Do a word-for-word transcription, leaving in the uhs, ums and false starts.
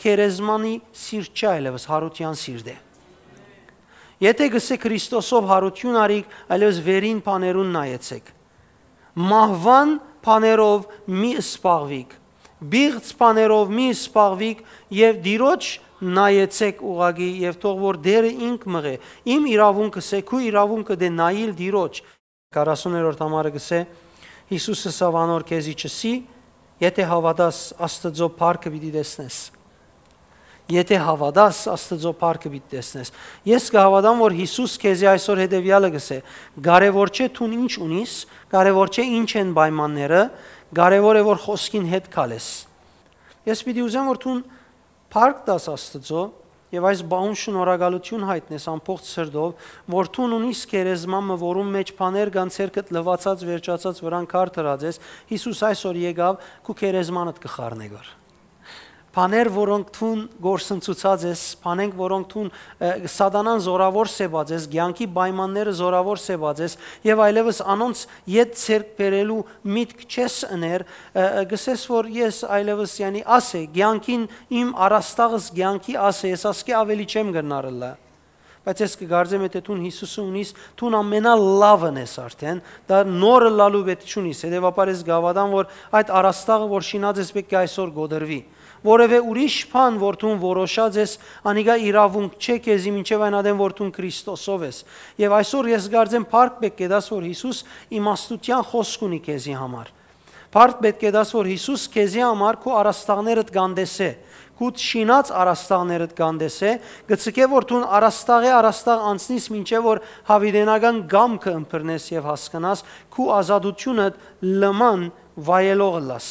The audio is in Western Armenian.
գերեզմանի սիրտ չէ այլեւս, յարութեան սիրտ է։ Եթէ կ'ըսէ Քրիստոսով յարութիւն առիք, այլեւս վերին բաներուն նայեցէք։ Մահուան բաներով մի զբաղուիք, պիղծ բաներով մի զբաղուիք եւ Տիրոջ նայեցէք ուղղակի եւ թող որ Տէրը ինք մղէ։ Իմ իրաւունքը, սէ քու իրաւունքը դէ նայիլ Տիրոջ։ Քառասուներորդ համարը կ'ըսէ. Յիսուս ըսաւ անոր. «Քեզի չըսի, եթէ հաւատաս, Աստուծոյ փառքը պիտի տեսնես»։ Եթէ հաւատաս, Աստուծոյ փառքը պիտի տեսնես։ Ես կը հաւատամ, որ Յիսուս քեզի այսօր հետեւեալը կ'ըսէ. «Կարեւոր չէ դուն ինչ ունիս, կարեւոր չէ ինչ են պայմանները, կարեւոր է որ խօսքին հետ քալես»։ Ես պիտի ուզեմ, որ դուն փառք տաս Աստուծոյ եւ այս պահուն շնորհակալութիւն յայտնես ամբողջ սրտով, որ դուն ունիս գերեզման մը, որուն մէջ բաներ կան, ձեռքդ լուացած, վերջացած, վրան քար դրած ես, Յիսուս այսօր եկաւ, քու գերեզմանդ կը խառնէ գոր։ Բաներ, որոնք դուն գործընծուցած ես, բանենք, որոնք դուն, ը, սատանան զորաւոր սեպած ես, կեանքի պայմանները զորաւոր սեպած ես, եւ այլեւս անոնց ետ ձեռք բերելու միտք չես ըներ, ը, ը, կ'ըսես, որ ես այլեւս, յանի, աս է, կեանքին իմ առաստաղս կեանքի աս է, ես ասկէ աւելի չեմ կրնար ըլլայ։ Բայց ես կը կարծեմ, եթէ դուն Յիսուսը ունիս, դուն ամենալավն ես արդեն, դա նոր ըլլալու պէտք չունիս, հետեւաբար ես կը հաւատամ, որ այդ առաստաղը, որ շինած ես, պէտք է այսօր կոտրուի։ Որևէ ուրիշ բան, որ դուն որոշած ես, անիկա իրաւունք չէ քեզի, մինչեւ այն ատեն, որ դուն Քրիստոսով ես։ Եւ այսօր ես կարծեմ փառք պէտք է տաս, որ Յիսուս իմաստութեան խօսք ունի քեզի համար։ Փառք պէտք է տաս, որ Յիսուս քեզի համար քու առաստաղներդ կ'անտեսէ, քու շինած առաստաղներդ կ'անտեսէ, կը ցկէ, որ դուն առաստաղէ առաստաղ անցնիս, մինչեւ որ յաւիտենական կամքը ըմբռնես եւ հասկնաս, քու ազատութիւնդ լման վայելող ըլլաս։